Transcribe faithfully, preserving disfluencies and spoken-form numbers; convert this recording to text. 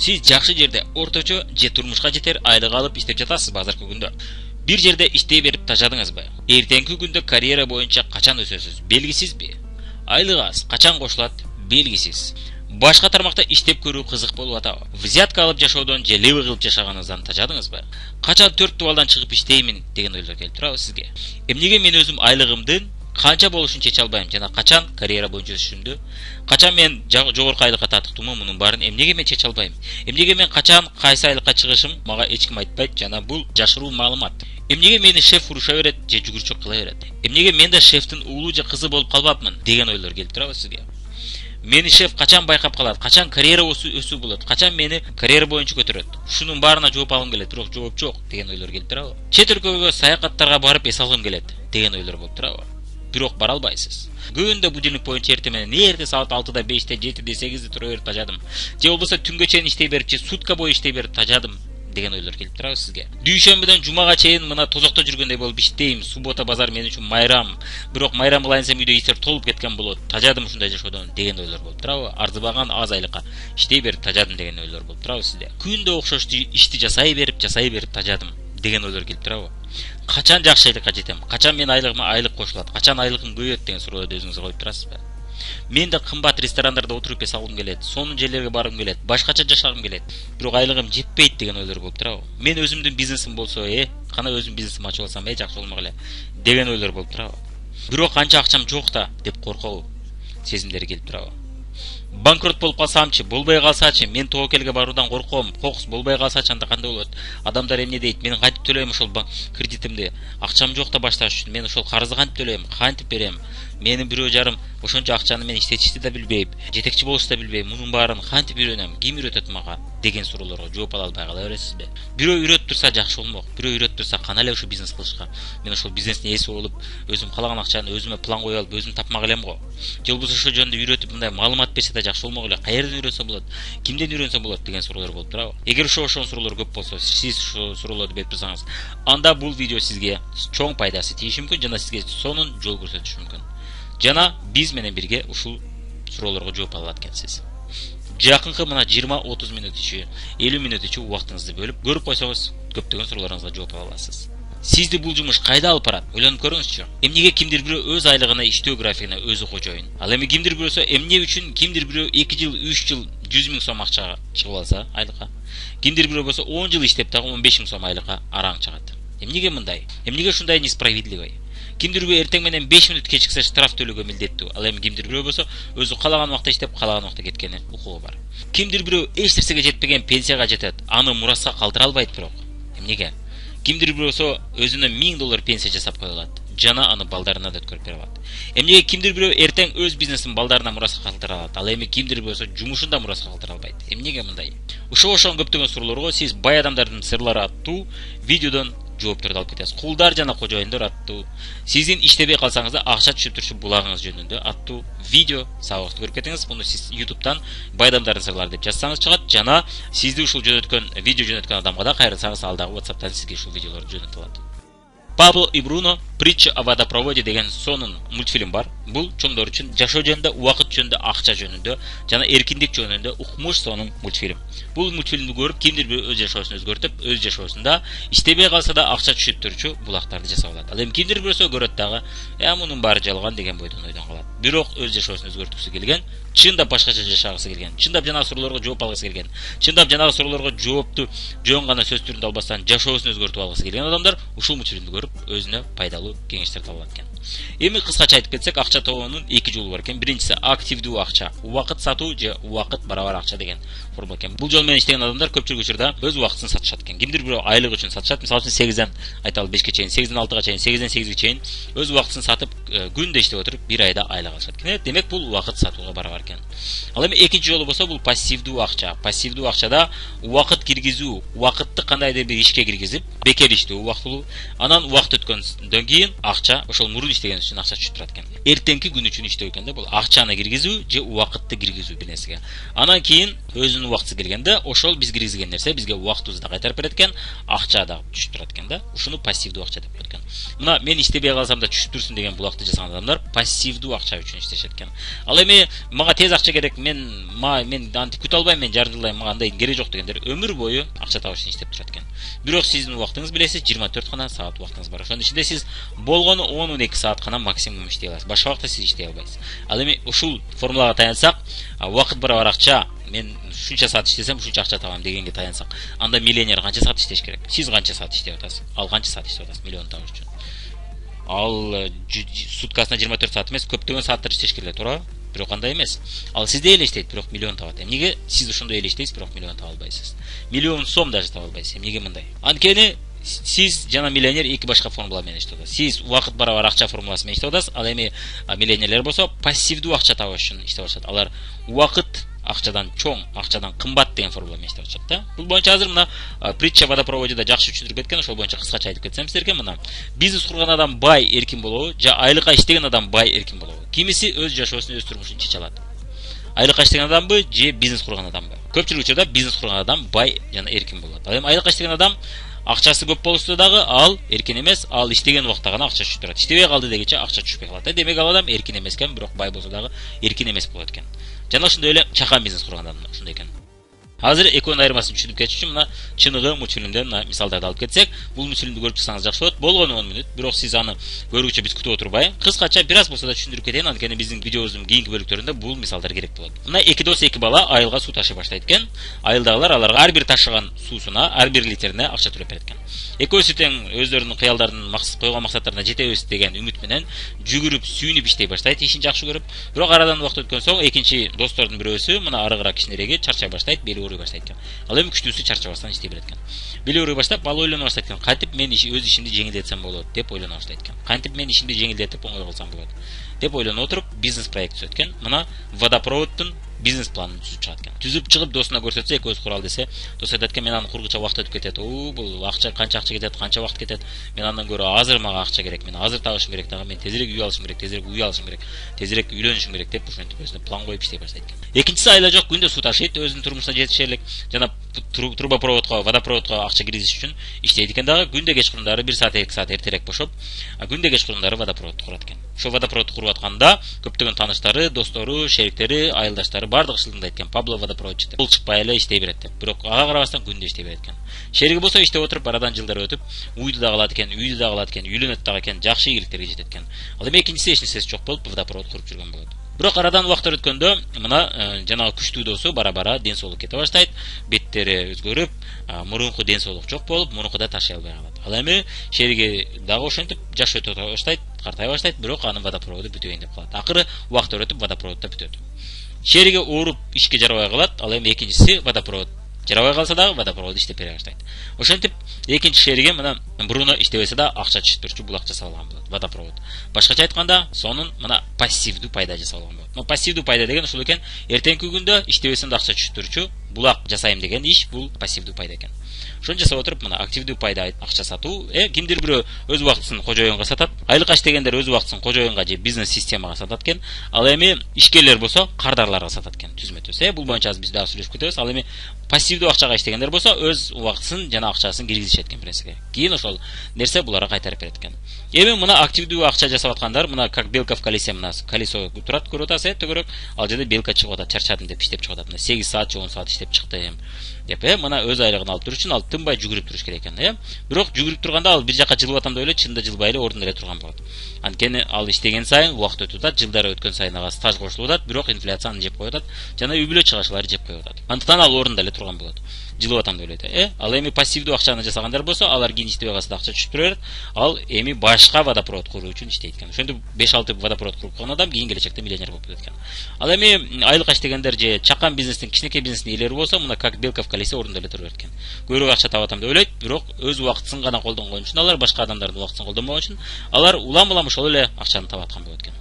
Сиз жакшы жерде орточо же турмушка жетер айлык алып иштеп жатасызбы азыркы күндө? Бир жерде иштей берип тажадыңызбы? Эртеңки күндө карьера боюнча качан өсөсүз? Белгисизби? Айлык аз качан кошулат? Белгисиз. Башка тармакта иштеп көрүү кызык болуп атабы? Взятка алып жашоодон же леви кылып жашаганыңыздан тажадыңызбы? Качан төрт балдан чыгып иштеймин деген ойлор келип турабы сизге? Эмнеге мен өзүм айлыгымдын канча болушун чече албайм жана качан карьера боюнча өсүшүмдү, качан мен жогорку айлыкка татыктуумун, мунун баарын эмнеге мен чече албайм? Эмнеге мен качан кайсы айлыкка чыгышым мага эч ким айтпайт жана бул жашыруу маалымат. Эмнеге мени шеф уруша берет же жүгүрчүк кыла берет? Эмнеге мен да шефтин уулу же кызы болуп калбапмын деген ойлор келип турабы сизге? Мени шеф качан байкап калат? Качан карьера өсүү болот? Качан мени карьера боюнча көтөрөт? Ушунун баарына жооп алгым келет, бирок жооп жок деген ойлор келип турабы? Чет өлкөгө саякаттарга барып эс алгым келет деген ойлор болуп турабы? Бирок бара албайсыз. Күндө будильник боюнча эртең менен эрте саат алтыда, беште, жетиде, сегизде тура берип тажадым. Же болбосо түнгө чейин иштей берип, же сутка бою иштей берип тажадым деген ойлор келип турабы сизге? Дүйшөмбүдөн жумага чейин мына тозокто жүргөндөй болуп иштейм. Суббота базар мен үчүн майрам. Бирок майрам кылайынсам үйдө иштер толуп кеткен болот. Тажадым ушундай жашоодон деген ойлор болуп турабы? Арзыбаган аз айлыкка иштей берип тажадым деген ойлор болуп турабы сизде? Күндө окшош ишти жасай берип, жасай берип тажадым деген ойлор келип турабы? Качан жакшы айлыкка жетем? Качан мен айлыгыма айлык кошулат? Качан айлыгым көбөйөт деген суроолорду өзүңүзгө коюп турасызбы? Мен да кымбат ресторандарда отуруп эс алгым келет, сонун жерлерге баргым келет, башкача жашагым келет. Бирок айлыгым жетпейт деген ойлор болуп турабы? Мен өзүмдүн бизнесим болсо, э, кана өзүм бизнесим ачып алсам, э, жакшы болмок эле деген ойлор болуп турабы? Бирок канча акчам жок да деп коркуу сезимдери келип турабы? Банкрот болуп калсамчы, болбой калсачы, мен тобокелге баруудан корком. Кокус болбой калсачы анда кандай болот? Адамдар эмне дейт? Мен кантип төлөйм ошол кредитимди? Акчам жок да башташ үчүн. Мен ошол карызды кантип төлөйм? Кантип берем? Менин бирөө жарым ошончо акчаны мен иштетишти да билбейм, жетекчи болушту да билбейм. Мунун баарын кантип үйрөнөм? Ким үйрөтөт мага? Деген суроолорго жооп ала албай кала бересизби? Бирөө үйрөтүп турса жакшы болмок. Бирөө үйрөтүп турса кана эле ушул бизнес кылышка. Мен ошол бизнестин ээси болуп, өзүм каалаган акчаны өзүмө план коюп алып, өзүм тапмак элем го. Же болбосо ошол жөнүндө үйрөтүп, мындай маалымат берсе да жакшы болмок эле. Каерден үйрөнсө болот? Кимден үйрөнсө болот деген суроолор болуп турабы? Эгер ошо ошол суроолор көп болсо, сиз ошол суроолорду берип турсаңыз, анда бул видео сизге чоң пайдасы тийиши мүмкүн жана сизге сонун жол көрсөтүшү мүмкүн. Жана биз менен бирге ушул суроолорго жооп ала алат экенсиз. Жакынкы мына жыйырма отуз мүнөт ичи, элүү мүнөт ичи убактыңызды бөлүп көрүп койсоңуз, көптөгөн суроолоруңузга жооп ала аласыз. Сизди бул жумуш кайда алып барат? Ойлонуп көрүңүзчү. Эмнеге кимдир бирөө өз айлыгына, иштөө графигине өзү кожоюн? Ал эми кимдир бирөөсү эмне үчүн кимдир бирөө эки жыл, үч жыл жүз миң сом акчага чыгып алса айлыкка, кимдир бирөө болсо он жыл иштеп дагы он беш миң сом айлыкка араң чыгат. Эмнеге мындай? Эмнеге ушундай несправедливый? Кимдир бирөө эртең менен беш мүнөт кечиксе штраф төлөөгө милдеттүү. Ал эми кимдир бирөө болсо өзү каалаган убакта иштеп, каалаган убакта кеткени укугу бар. Кимдир бирөө эч нерсеге жетпеген пенсияга жетет, аны мураска калтыра албайт бирок. Эмнеге? Кимдир бирөө болсо өзүнө миң доллар пенсия жасап кое алат, жана аны балдарына да өткөрүп бере алат. Эмнеге кимдир бирөө эртең өз бизнесин балдарына мураска калтыра алат, ал эми кимдир бирөө болсо жумушун да мураска калтыра албайт? Эмнеге мындай? Ушул ошол көптөгөн суроолорго сиз бай адамдардын сырлары аттуу видеодон жоопторду алып кетесиз. Кулдар жана кожоюндар аттуу, сиздин иштебей калсаңыз да акча түшүп турчу булагыңыз жөнүндө аттуу видео сабакты көрүп кетиңиз. Муну сиз ютубтан бай адамдардын сырлары деп жазсаңыз чыгат, жана сизди ушул жөнөткөн видео жөнөткөн адамга да кайрылсаңыз, ал дагы WhatsApp'тан сизге ушул видеолорду жөнөтүп алат. Пабло и Бруно «Притча о водопроводе» деген сонун мультфильм бар. Бул чоңдор үчүн жашоо жөнүндө, убакыт жөнүндө, акча жөнүндө жана эркиндик жөнүндө укмуш сонун мультфильм. Бул мультфильмди көрүп, кимдир бир өз жашоосун өзгөртүп, өз жашоосунда иштебей калса да акча түшүп турчу булактарды жасап алат. Ал эми кимдир бирөөсү көрөт дагы, "Я мунун баары жалган" деген бойдон ойдон калат. Бирок өз жашоосун өзгөрткүсү келген, чындап башкача жашагысы келген, чындап жанагы суроолорго жооп алгысы келген, чындап жанагы суроолорго жоопту жөн гана сөз түрүндө албастан жашоосун өзгөртүп алгысы келген адамдар ушул мультфильмди көрүп өзүнө пайдалуу кеңештерди ала алат экен. Эми кыскача айтып кетсек, акча табуунун эки жолу бар экен. Биринчиси активдүү акча, убакыт сатуу же убакыт барабар акча деген формула экен. Бул жол менен иштеген адамдар көпчүлүк учурда өз убактысын сатышат экен. Кимдир бирөө айлык үчүн сатышат. Мисалы үчүн сегизден айталы бешке чейин, сегизден алтыга чейин, сегизден сегизге чейин өз убактысын сатып, күндө иштеп отуруп, бир айда айлык алышат экен. Демек бул убакыт сатууга барабар экен. Ал эми экинчи жолу болсо бул пассивдүү акча. Пассивдүү акчада убакыт киргизүү, убакытты кандайдыр бир ишке киргизип, бекер иштөө убактылуу, анан убакыт өткөндөн кийин акча ошол мурун иштеген үчүн акча түшүп турат экен. Эртеңки күн үчүн иштөө экен да, бул акчаны киргизүү же убакытты киргизүү бир нерсеге. Анан кийин өзүнүн өзүнүн убактысы келгенде ошол биз киргизген нерсе бизге убактыбызды да кайтарып берет экен, акча да түшүп турат экен да. Ушуну пассивдүү акча деп коет экен. Мына мен иштебей калсам да түшүп турсун деген булакты жасаган адамдар пассивдүү акча үчүн иштешет экен. Ал эми мага тез акча керек, мен ма мен антип күтө албайм, мен жарым жылдай мага андай кереги жок дегендер өмүр бою акча табыш үчүн иштеп турат экен. Бирок сиздин убактыңыз билесиз, жыйырма төрт гана саат убактыңыз бар. Ошонун ичинде сиз болгону он он эки саат гана максимум иштей аласыз. Башка убакта сиз иштей албайсыз. Ал эми ушул формулага таянсак, убакыт барабар акча, мен ушунча саат иштесем ушунча акча табам дегенге таянсак, анда миллионер канча саат иштеш керек? Сиз канча саат иштеп атасыз? Ал канча саат иштеп атасыз миллион табыш үчүн? Ал суткасына жыйырма төрт саат эмес, көптөгөн сааттар иштеш керек, туура? Бирок андай эмес. Ал сизде эле иштейт, бирок миллион табат. Эмнеге сиз ошондой эле иштейсиз, бирок миллион таба албайсыз? Миллион сом даже таба албайсыз. Эмнеге мындай? Анткени сиз жана миллионер эки башка формула менен иштеп атасыз. Сиз убакыт барабар акча формуласы менен иштеп атасыз. Ал эми миллионерлер болсо пассивдүү акча табыш үчүн иштеп атышат. Алар убакыт акчадан чоң, акчадан кымбат деген формула менен иштеп атышат да. Бул боюнча азыр мына притча водопроводда жакшы түшүндүрүп кеткен, ошол боюнча кыскача айтып кетсем сиздерге, мына бизнес курган адам бай, эркин болобу, же айлыкка иштеген адам бай, эркин болобу? Кимиси өз жашоосун, өз турмушун чече алат? Айлыкка иштеген адамбы же бизнес курган адамбы? Көпчүлүк учурда бизнес курган адам бай жана эркин болот. Ал эми айлыкка иштеген адам акчасы көп болсо дагы ал эркин эмес, ал иштеген убакта гана акча түшүп турат. Иштебей калды дегенче акча түшпөй калат. Демек ал адам эркин эмес экен, бирок бай болсо дагы эркин эмес болот экен. Жана ошондой эле чакан бизнес курган адам ошондой экен. Азыр экөөнүн айырмасын түшүнүп кетиш үчүн мына чыныгы мультфильмден мисалдарды алып кетсек, бул мультфильмди көрүп чыксаңыз жакшы болот. Болгону он мүнөт, бирок сиз аны көрүүчө биз күтүп отурбай, кыскача бир аз болсо да түшүндүрүп кетейин, анткени биздин видеобуздун кийинки бөлүктөрүндө бул мисалдар керек болот. Мына эки дос, эки бала айылга суу ташый баштайт экен. Айылдагылар аларга ар бир ташыган суусуна, ар бир литрине акча төлөп берет экен. Экөөсү тең өздөрүнүн кыялдарын, максат койгон максаттарына жетебиз деген үмүт менен жүгүрүп, сүйүнүп иштей баштайт, ишин жакшы көрүп. Бирок арадан убакыт өткөн соң экинчи достордун бирөөсү мына арыгыраак кичинереги чарчай баштайт, бели ооруй баштайт экен. Ал эми күчтүүсү чарчабастан иштей берет экен. Бели ооруй баштап, ал ойлоно баштайт экен. Кантип мен өз ишимди жеңилдетсем болот деп ойлоно баштайт экен. Кантип мен ишимди жеңилдетип оңой кылсам болот деп ойлонуп отуруп бизнес проект түзөт экен. Мына водопроводдун бизнес планын түзүп чыгат экен. Түзүп чыгып досуна көрсөтсө, экөөсү курал десе, дос айтат экен, мен аны кургуча убакыт өтүп кетет. Оо, бул акча канча акча кетет, канча убакыт кетет. Мен андан көрө азыр мага акча керек, мен азыр табышым керек дагы, мен тезирээк үй алышым керек, тезирээк үй алышым керек, тезирээк үйлөнүшүм керек деп ошентип өзүнө план коюп иштей баштайт экен. Экинчиси айла жок, күндө суу ташыйт, өзүнүн турмушуна жетишерлик жана трубопроводко, водопроводко акча киргизиш үчүн иштейт экен дагы. Күндө кечкурундары бир саат, эки саат эртерээк бошоп, күндө кечкурундары водопроводду курат экен. Ошо водопроводду куруп атканда көптөгөн тааныштары, достору, шериктери, айылдаштары бардыгы шылдыңдайт экен. Пабло водопроводчу деп. Бул чыкпай эле иштей берет деп. Бирок ага карабастан күндө иштей берет экен. Шериги болсо иштеп отуруп, арадан жылдар өтүп, уйду да калат экен, үйдү да калат экен, үйлөнөт дагы экен, жакшы ийгиликтерге жетет экен. Ал эми экинчиси эч нерсеси жок болуп водопровод куруп жүргөн болот. Бирок арадан убакыттар өткөндө мына жанагы күчтүү досу бара-бара ден соолук кете баштайт, беттери өзгөрүп, мурунку ден соолук жок болуп, мурункудай ташый албай калат. Ал эми шериги дагы ошентип жаш өтө баштайт, картай баштайт, бирок анын водопроводу бүтөйүн деп калат. Акыры убакыттар өтүп водопровод да бүтөт. Шериги ооруп ишке жарабай калат, ал эми экинчиси водопровод жарабай калса дагы водопровод иштеп бере баштайт. Ошентип экинчи шериги мына буруна иштебесе да акча түшүп турчу булак жасап алган болот, водопровод. Башкача айтканда, сонун мына пассивдүү пайда жасап алган болот. Но пассивдүү пайда деген ушул экен, эртеңки күндө иштебесем да акча түшүп турчу булак жасайм деген иш, бул пассивдүү пайда экен. Ошону жасап отуруп мына активдүү пайда акча сатуу, э кимдир бирөө өз убактысын кожоюнга сатат, айлыкка иштегендер өз убактысын кожоюнга же бизнес системага сатат экен. Ал эми ишкерлер болсо кардарларга сатат экен, түзмө-түз. Э бул боюнча азыр биз дагы сүйлөшүп кетебиз. Ал эми пассивдүү акчага иштегендер болсо өз убактысын жана акчасын киргизишет экен пресиге. Кийин ошол нерсе буларга кайтарып берет экен. Эми мына активдүү акча жасап аткандар, мына как белка в колесе, мына колесо турат, көрүп атасыз, э төгөрөк. Ал жерде белка чыгып атат, чарчадым деп иштеп чыгып атат. Мына сегиз саат же он саат иштеп чыктым деп, э мына өз айлыгын алып туруш үчүн ал тынбай жүгүрүп туруш керек экен, э. Бирок жүгүрүп турганда ал бир жакка жылып атам деп ойлойт, чынында жылбай эле ордунда эле турган болот. Анткени ал иштеген сайын убакыт өтүп атат, жылдар өткөн сайын ага стаж кошулуп атат, бирок инфляция аны жеп коюп атат, жана үй бүлө чыгашылары жеп коюп атат. Андыктан ал ордунда эле турган болот. Жылып атам деп ойлойт, э. Ал эми пассивдүү акчаны жасагандар болсо, алар кийин иштебей калса да акча түшүп тура берет. Ал эми башка водопровод куруу үчүн иштейт экен. Ошентип беш алты водопровод куруп койгон адам кийин келечекте миллионер болуп кетет экен. Ал эми айлыкка иштегендер же чакан бизнестин, кичинекей бизнестин ээлери болсо, мына как белка в колесе ордунда эле тура берет экен. Көбүрөөк акча табатам деп ойлойт, бирок өз убактысын гана колдонгон үчүн, алар башка адамдардын убактысын колдонбогон үчүн, алар улам-улам ошол эле акчаны табаткан болот экен.